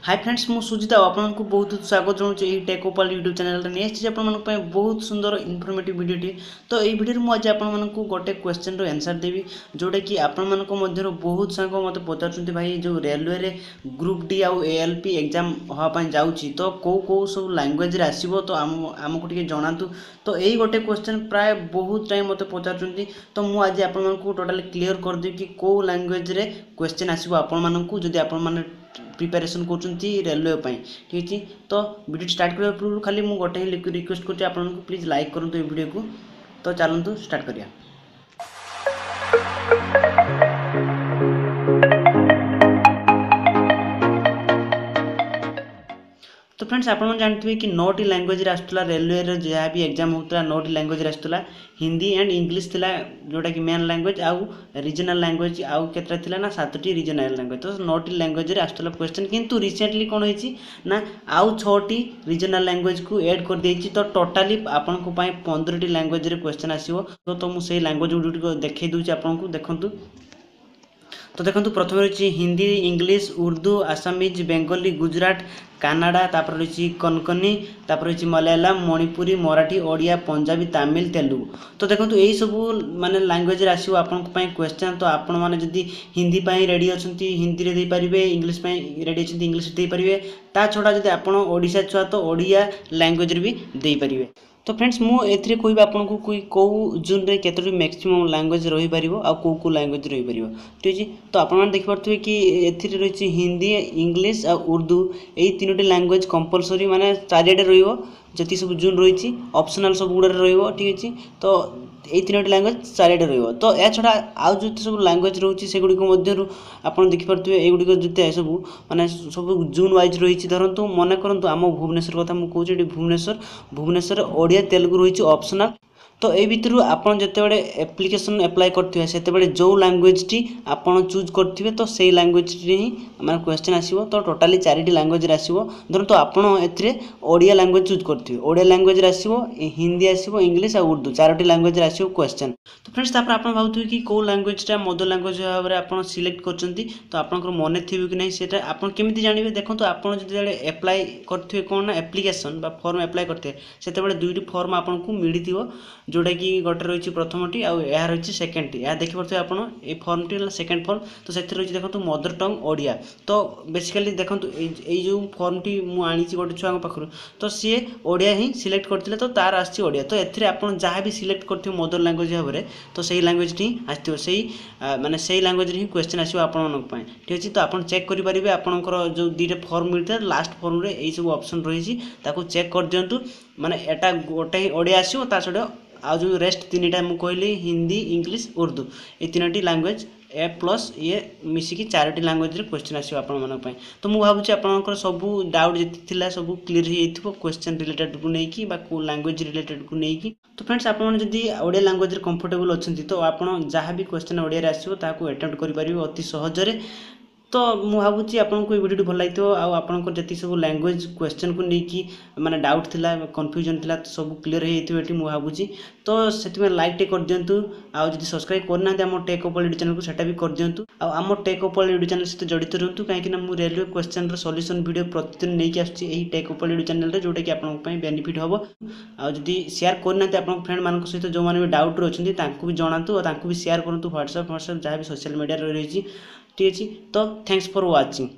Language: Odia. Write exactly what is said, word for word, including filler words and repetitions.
ହାଇ ଫ୍ରେଣ୍ଡସ୍, ମୁଁ ସୁଜିତ ଆଉ ଆପଣଙ୍କୁ ବହୁତ ସ୍ୱାଗତ ଜଣାଉଛି ଏହି ଟେକ୍ ଓପାଲ ୟୁଟ୍ୟୁବ୍ ଚ୍ୟାନେଲରେ। ନେଇ ଆସିଛି ଆପଣମାନଙ୍କ ପାଇଁ ବହୁତ ସୁନ୍ଦର ଇନଫର୍ମେଟିଭ୍ ଭିଡ଼ିଓଟି। ତ ଏଇ ଭିଡ଼ିଓରେ ମୁଁ ଆଜି ଆପଣମାନଙ୍କୁ ଗୋଟେ କ୍ୱେଶ୍ଚନର ଆନ୍ସର୍ ଦେବି, ଯେଉଁଟାକି ଆପଣମାନଙ୍କ ମଧ୍ୟରୁ ବହୁତ ସାଙ୍ଗ ମୋତେ ପଚାରୁଛନ୍ତି, ଭାଇ, ଯେଉଁ ରେଲୱେରେ ଗ୍ରୁପ୍ ଡି ଆଉ ଏ ଏଲ୍ ପି ଏକ୍ଜାମ୍ ହେବା ପାଇଁ ଯାଉଛି, ତ କେଉଁ କେଉଁ ସବୁ ଲାଙ୍ଗୁଏଜରେ ଆସିବ, ତ ଆମ ଆମକୁ ଟିକେ ଜଣାନ୍ତୁ। ତ ଏଇ ଗୋଟେ କ୍ୱେଶ୍ଚନ୍ ପ୍ରାୟ ବହୁତ ଟାଇମ୍ ମୋତେ ପଚାରୁଛନ୍ତି। ତ ମୁଁ ଆଜି ଆପଣମାନଙ୍କୁ ଟୋଟାଲି କ୍ଲିଅର୍ କରିଦେବି କି କେଉଁ ଲାଙ୍ଗୁଏଜରେ କ୍ୱେଶ୍ଚନ୍ ଆସିବ ଆପଣମାନଙ୍କୁ, ଯଦି ଆପଣମାନେ ପ୍ରିପାରେସନ୍ କରୁଛନ୍ତି ରେଲୱେ ପାଇଁ। ଠିକ୍ ଅଛି, ତ ଭିଡ଼ିଓ ଷ୍ଟାର୍ଟ କରିବା ପୂର୍ବରୁ ଖାଲି ମୁଁ ଗୋଟେ ହିଁ ରିକ୍ୱେଷ୍ଟ କରୁଛି ଆପଣଙ୍କୁ, ପ୍ଲିଜ୍ ଲାଇକ୍ କରନ୍ତୁ ଏ ଭିଡ଼ିଓକୁ। ତ ଚାଲନ୍ତୁ ଷ୍ଟାର୍ଟ କରିବା। ତ ଫ୍ରେଣ୍ଡସ୍, ଆପଣମାନେ ଜାଣିଥିବେ କି ନଅଟି ଲାଙ୍ଗୁଏଜରେ ଆସୁଥିଲା ରେଲୱେର ଯାହା ବି ଏକ୍ଜାମ୍ ହେଉଥିଲା, ନଅଟି ଲାଙ୍ଗୁଏଜରେ ଆସୁଥିଲା। ହିନ୍ଦୀ ଆଣ୍ଡ ଇଂଲିଶ ଥିଲା ଯେଉଁଟାକି ମେନ୍ ଲାଙ୍ଗୁଏଜ, ଆଉ ରିଜନାଲ୍ ଲାଙ୍ଗୁଏଜ ଆଉ କେତେଟା ଥିଲା ନା ସାତଟି ରିଜନାଲ୍ ଲାଙ୍ଗୁଏଜ। ତ ନଅଟି ଲାଙ୍ଗୁଏଜରେ ଆସୁଥିଲା କ୍ୱେଶ୍ଚନ୍। କିନ୍ତୁ ରିସେଣ୍ଟଲି କ'ଣ ହେଇଛି ନା ଆଉ ଛଅଟି ରିଜନାଲ୍ ଲାଙ୍ଗୁଏଜକୁ ଏଡ଼୍ କରିଦେଇଛି। ତ ଟୋଟାଲି ଆପଣଙ୍କ ପାଇଁ ପନ୍ଦରଟି ଲାଙ୍ଗୁଏଜରେ କ୍ୱେଶ୍ଚନ୍ ଆସିବ। ତ ମୁଁ ସେଇ ଲାଙ୍ଗୁଏଜ ଗୁଡ଼ିକ ଦେଖାଇ ଦେଉଛି ଆପଣଙ୍କୁ, ଦେଖନ୍ତୁ। ତ ଦେଖନ୍ତୁ, ପ୍ରଥମେ ରହିଛି ହିନ୍ଦୀ, ଇଂଲିଶ, ଉର୍ଦ୍ଦୁ, ଆସାମିଜ, ବେଙ୍ଗଲୀ, ଗୁଜୁରାଟ, କାନାଡ଼ା, ତାପରେ ରହିଛି କନକନି, ତାପରେ ରହିଛି ମଲୟାଲମ, ମଣିପୁରୀ, ମରାଠୀ, ଓଡ଼ିଆ, ପଞ୍ଜାବୀ, ତାମିଲ, ତେଲୁଗୁ। ତ ଦେଖନ୍ତୁ, ଏଇସବୁ ମାନେ ଲାଙ୍ଗୁଏଜରେ ଆସିବ ଆପଣଙ୍କ ପାଇଁ କ୍ୱେଶ୍ଚନ୍। ତ ଆପଣମାନେ ଯଦି ହିନ୍ଦୀ ପାଇଁ ରେଡ଼ି ଅଛନ୍ତି, ହିନ୍ଦୀରେ ଦେଇପାରିବେ, ଇଂଲିଶ ପାଇଁ ରେଡ଼ି ଅଛନ୍ତି, ଇଂଲିଶରେ ଦେଇପାରିବେ। ତା ଛଡ଼ା ଯଦି ଆପଣ ଓଡ଼ିଶା ଛୁଆ, ତ ଓଡ଼ିଆ ଲାଙ୍ଗୁଏଜରେ ବି ଦେଇପାରିବେ। ତ ଫ୍ରେଣ୍ଡସ୍, ମୁଁ ଏଥିରେ କହିବି ଆପଣଙ୍କୁ କେଉଁ ଜୋନ୍ରେ କେତୋଟି ମ୍ୟାକ୍ସିମମ୍ ଲାଙ୍ଗୁଏଜ୍ ରହିପାରିବ ଆଉ କେଉଁ କେଉଁ ଲାଙ୍ଗୁଏଜ୍ ରହିପାରିବ। ଠିକ୍ ଅଛି, ତ ଆପଣମାନେ ଦେଖିପାରୁଥିବେ କି ଏଥିରେ ରହିଛି ହିନ୍ଦୀ, ଇଂଲିଶ ଆଉ ଉର୍ଦ୍ଦୁ। ଏଇ ତିନୋଟି ଲାଙ୍ଗୁଏଜ୍ କମ୍ପଲସରି ମାନେ ଚାରିଆଡ଼େ ରହିବ, ଯେତିକି ସବୁ ଜୋନ୍ ରହିଛି, ଅପସନାଲ୍ ସବୁ ଗୁଡ଼ାରେ ରହିବ। ଠିକ୍ ଅଛି, ତ ଏଇ ତିନୋଟି ଲାଙ୍ଗୁଏଜ୍ ଚାରିଆଡ଼େ ରହିବ। ତ ଏହା ଛଡ଼ା ଆଉ ଯେତେ ସବୁ ଲାଙ୍ଗୁଏଜ୍ ରହୁଛି, ସେଗୁଡ଼ିକ ମଧ୍ୟରୁ ଆପଣ ଦେଖିପାରୁଥିବେ, ଏଗୁଡ଼ିକ ଯେତେ ସବୁ ମାନେ ସବୁ ଜୋନ୍ ୱାଇଜ୍ ରହିଛି। ଧରନ୍ତୁ, ମନେ କରନ୍ତୁ ଆମ ଭୁବନେଶ୍ୱର କଥା ମୁଁ କହୁଛି, ଏଠି ଭୁବନେଶ୍ୱର, ଭୁବନେଶ୍ୱରରେ ଓଡ଼ିଆ, ତେଲୁଗୁ ରହିଛି ଅପସନାଲ୍। ତ ଏଇ ଭିତରୁ ଆପଣ ଯେତେବେଳେ ଆପ୍ଲିକେସନ୍ ଆପ୍ଲାଏ କରିଥିବେ, ସେତେବେଳେ ଯେଉଁ ଲାଙ୍ଗୁଏଜଟି ଆପଣ ଚୁଜ୍ କରିଥିବେ, ତ ସେଇ ଲାଙ୍ଗୁଏଜରେ ହିଁ ମାନେ କ୍ୱେଶ୍ଚନ୍ ଆସିବ। ତ ଟୋଟାଲି ଚାରିଟି ଲାଙ୍ଗୁଏଜରେ ଆସିବ। ଧରନ୍ତୁ ଆପଣ ଏଥିରେ ଓଡ଼ିଆ ଲାଙ୍ଗୁଏଜ ଚୁଜ୍ କରିଥିବେ, ଓଡ଼ିଆ ଲାଙ୍ଗୁଏଜରେ ଆସିବ, ହିନ୍ଦୀ ଆସିବ, ଇଂଲିଶ ଆଉ ଉର୍ଦ୍ଦୁ, ଚାରୋଟି ଲାଙ୍ଗୁଏଜରେ ଆସିବ କ୍ୱେଶ୍ଚନ୍। ତ ଫ୍ରେଣ୍ଡସ୍, ତାପରେ ଆପଣ ଭାବୁଥିବେ କି କେଉଁ ଲାଙ୍ଗୁଏଜଟା ମଦର ଲାଙ୍ଗୁଏଜ ଭାବରେ ଆପଣ ସିଲେକ୍ଟ କରିଛନ୍ତି, ତ ଆପଣଙ୍କର ମନେ ଥିବ କି ନାହିଁ, ସେଇଟା ଆପଣ କେମିତି ଜାଣିବେ? ଦେଖନ୍ତୁ, ଆପଣ ଯେତେବେଳେ ଆପ୍ଲାଏ କରିଥିବେ କ'ଣ ନା ଆପ୍ଲିକେସନ୍ ବା ଫର୍ମ ଆପ୍ଲାଏ କରିଥିବେ, ସେତେବେଳେ ଦୁଇଟି ଫର୍ମ ଆପଣଙ୍କୁ ମିଳିଥିବ, ଯେଉଁଟାକି ଗୋଟେ ରହିଛି ପ୍ରଥମଟି ଆଉ ଏହା ରହିଛି ସେକେଣ୍ଡଟି। ଏହା ଦେଖିପାରୁଥିବେ ଆପଣ, ଏଇ ଫର୍ମଟି ହେଲା ସେକେଣ୍ଡ ଫର୍ମ। ତ ସେଥିରେ ରହିଛି ଦେଖନ୍ତୁ ମଦର ଟଙ୍ଗ ଓଡ଼ିଆ। ତ ବେସିକାଲି ଦେଖନ୍ତୁ, ଏଇ ଏଇ ଯେଉଁ ଫର୍ମଟି ମୁଁ ଆଣିଛି ଗୋଟେ ଛୁଆଙ୍କ ପାଖରୁ, ତ ସିଏ ଓଡ଼ିଆ ହିଁ ସିଲେକ୍ଟ କରିଥିଲେ, ତ ତାର ଆସିଛି ଓଡ଼ିଆ। ତ ଏଥିରେ ଆପଣ ଯାହା ବି ସିଲେକ୍ଟ କରିଥିବେ ମଦର ଲାଙ୍ଗୁଏଜ ଭାବରେ, ତ ସେଇ ଲାଙ୍ଗୁଏଜଟି ହିଁ ଆସିଥିବ, ସେଇ ମାନେ ସେଇ ଲାଙ୍ଗୁଏଜରେ ହିଁ କ୍ୱେଶ୍ଚନ୍ ଆସିବ ଆପଣମାନଙ୍କ ପାଇଁ। ଠିକ୍ ଅଛି, ତ ଆପଣ ଚେକ୍ କରିପାରିବେ, ଆପଣଙ୍କର ଯେଉଁ ଦୁଇଟା ଫର୍ମ ମିଳିଥିଲା, ଲାଷ୍ଟ ଫର୍ମରେ ଏଇସବୁ ଅପସନ୍ ରହିଛି, ତାକୁ ଚେକ୍ କରିଦିଅନ୍ତୁ। ମାନେ ଏଟା ଗୋଟେ ହିଁ ଓଡ଼ିଆ ଆସିବ, ତା ସହିତ ଆଉ ଯେଉଁ ରେଷ୍ଟ ତିନିଟା ମୁଁ କହିଲି, ହିନ୍ଦୀ, ଇଂଲିଶ, ଉର୍ଦ୍ଦୁ, ଏଇ ତିନୋଟି ଲାଙ୍ଗୁଏଜ ଏ ପ୍ଲସ୍ ଇଏ ମିଶିକି ଚାରୋଟି ଲାଙ୍ଗୁଏଜରେ କ୍ୱେଶ୍ଚନ୍ ଆସିବ ଆପଣମାନଙ୍କ ପାଇଁ। ତ ମୁଁ ଭାବୁଛି ଆପଣଙ୍କର ସବୁ ଡାଉଟ୍ ଯେତିକି ଥିଲା ସବୁ କ୍ଲିୟର ହେଇଯାଇଥିବ, କ୍ୱେଶ୍ଚନ୍ ରିଲେଟେଡ଼କୁ ନେଇକି ବା କେଉଁ ଲାଙ୍ଗୁଏଜ ରିଲେଟେଡ଼କୁ ନେଇକି। ତ ଫ୍ରେଣ୍ଡସ୍, ଆପଣମାନେ ଯଦି ଓଡ଼ିଆ ଲାଙ୍ଗୁଏଜରେ କମ୍ଫର୍ଟେବୁଲ୍ ଅଛନ୍ତି, ତ ଆପଣ ଯାହା ବି କ୍ୱେଶ୍ଚନ୍ ଓଡ଼ିଆରେ ଆସିବ ତାହାକୁ ଆଟେମ୍ପ୍ଟ କରିପାରିବେ ଅତି ସହଜରେ। ତ ମୁଁ ଭାବୁଛି ଆପଣଙ୍କୁ ଏଇ ଭିଡ଼ିଓଟି ଭଲ ଲାଗିଥିବ ଆଉ ଆପଣଙ୍କର ଯେତିକି ସବୁ ଲାଙ୍ଗୁଏଜ କ୍ୱେଶ୍ଚନ୍କୁ ନେଇକି ମାନେ ଡାଉଟ୍ ଥିଲା, କନଫ୍ୟୁଜନ୍ ଥିଲା, ତ ସବୁ କ୍ଲିୟର ହେଇଯାଇଥିବ ଏଠି ମୁଁ ଭାବୁଛି। ତ ସେଥିପାଇଁ ଲାଇକ୍ ଟିକେ କରିଦିଅନ୍ତୁ, ଆଉ ଯଦି ସବସ୍କ୍ରାଇବ୍ କରିନାହାନ୍ତି ଆମ ଟେକ୍ ଓପଲ୍ ୟୁଟ୍ୟୁବ୍ ଚ୍ୟାନେଲକୁ, ସେଟା ବି କରିଦିଅନ୍ତୁ, ଆଉ ଆମ ଟେକ୍ ଓପଲ୍ ୟୁଟ୍ୟୁବ୍ ଚ୍ୟାନେଲ୍ ସହିତ ଜଡ଼ିତ ରୁହନ୍ତୁ, କାହିଁକିନା ମୁଁ ରେଲୱେ କ୍ୱେଶ୍ଚନ୍ର ସଲ୍ୟୁସନ୍ ଭିଡ଼ିଓ ପ୍ରତିଦିନ ନେଇକି ଆସୁଛି ଏହି ଟେକ୍ ଓପଲ୍ ୟୁଟ୍ୟୁବ୍ ଚ୍ୟାନେଲରେ, ଯେଉଁଟାକି ଆପଣଙ୍କ ପାଇଁ ବେନିଫିଟ୍ ହେବ। ଆଉ ଯଦି ସେୟାର କରିନାହାନ୍ତି ଆପଣଙ୍କ ଫ୍ରେଣ୍ଡମାନଙ୍କ ସହିତ, ଯେଉଁମାନେ ବି ଡାଉଟ୍ରେ ଅଛନ୍ତି, ତାଙ୍କୁ ବି ଜଣାନ୍ତୁ ଆଉ ତାଙ୍କୁ ବି ସେୟାର କରନ୍ତୁ ହ୍ୱାଟ୍ସଆପ୍ ହ୍ୱାଟ୍ସଆପ୍ ଯାହା ବି ସୋସିଆଲ୍ ମିଡ଼ିଆରେ ରହିଛି। ଠିକ୍ ଅଛି, ତ thanks for watching.